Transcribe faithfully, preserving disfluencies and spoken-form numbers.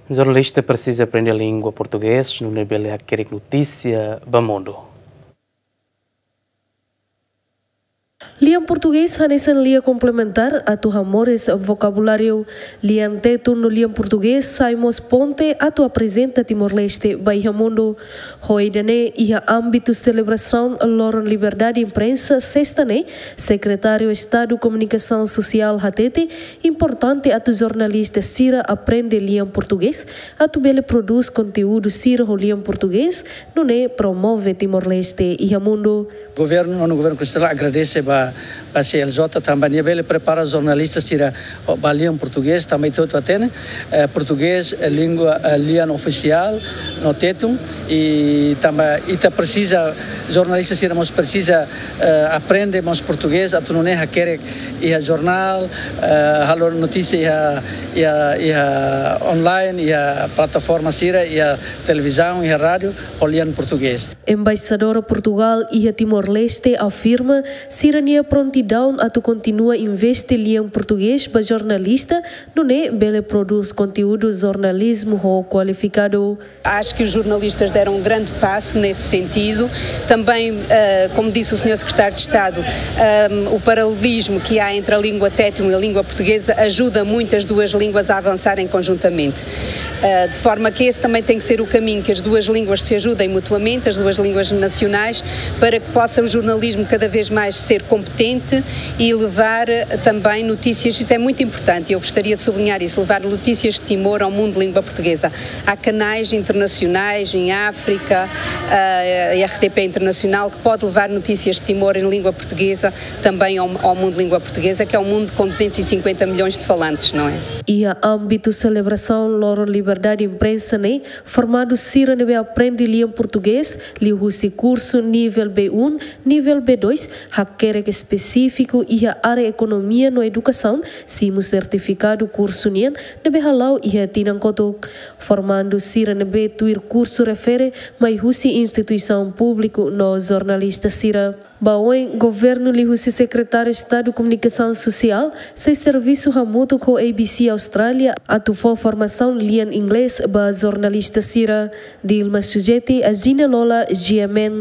Jornalista presiza aprende língua portugés nune'e bele hakerek notísia ba mundu. Lian portugés hanesan lian komplementár atu hamoris vokabuláriu. Lian Tetun no lian portugés sai mós ponte atu aprezenta Timor-Leste ba iha mundu. Ho ida-ne'e, iha ámbitu selebrasaun Loron Liberdade Imprensa, sesta ne'e, Sekretáriu Estadu Komunikasaun Sosiál hatete importante atu jornalista sira aprende lian portugés atu bele prodús konteúdu sira ho lian portugés, nune'e promove Timor-Leste iha mundu. Governu, nonu governu konstitusionál agradese ba, ba C L J tanba nia bele prepara jornalista sira ba lian portugés, tanba ita hotu hatene, eh, portugés, eh, língua, eh, lian ofisiál no Tetun, i tanba ita presiza, jornalista sira mós presiza, eh, aprende mós portugés atu nune'e hakerek iha jornál, eh, halo notísia iha, iha, iha online, iha plataforma sira, iha televizaun, iha rádiu, ho lian portugés. Embaixadora Portugál iha Timor-Leste afirma sira-nia prontidaun atu kontinua investe lian portugés ba jornalista, nune'e bele prodús konteúdu jornalizmu ho kualifikadu. Acho que os jornalistas deram um grande passo nesse sentido. Também, eh, como disse o senhor Secretário de Estado, ehm, o paralelismo que há entre a língua tétun e a língua portuguesa ajuda muito as duas línguas a avançarem conjuntamente. Eh, de forma que esse também tem que ser o caminho, que as duas línguas se ajudem mutuamente, as duas línguas nacionais, para que possa o jornalismo cada vez mais ser competente e levar, eh, também notícias. Isso é muito importante, eu gostaria de sublinhar isso, levar notícias de Timor ao mundo de língua portuguesa. Há canais internacionais em África, eh, a R T P Internacional, que pode levar notícias de Timor em língua portuguesa também ao, ao mundo de língua portuguesa, que é um mundo com duzentos e cinquenta milhões de falantes, não é? Iha ámbitu selebrasaun Loron Liberdade Imprensa ne'e, formandu sira ne'ebé aprende lian portugés liuhusi kursu nivel B um, nivel B dois, hakerek espesífiku iha área ekonomia no edukasaun, simu sertifikadu kursu nian ne'ebé hala'o iha tinan kotuk. Formandu sira ne'ebé tuir kursu refere mai husi instituisaun públiku no jornalista sira. Ba oin, governu liuhusi Sekretáriu Estadu Komunikasaun Sosiál sei servisu hamutuk ho A B C Austrália atu fó formasaun lian inglés ba jornalista sira. Dilma Sujeti, Azina Lola, G M N.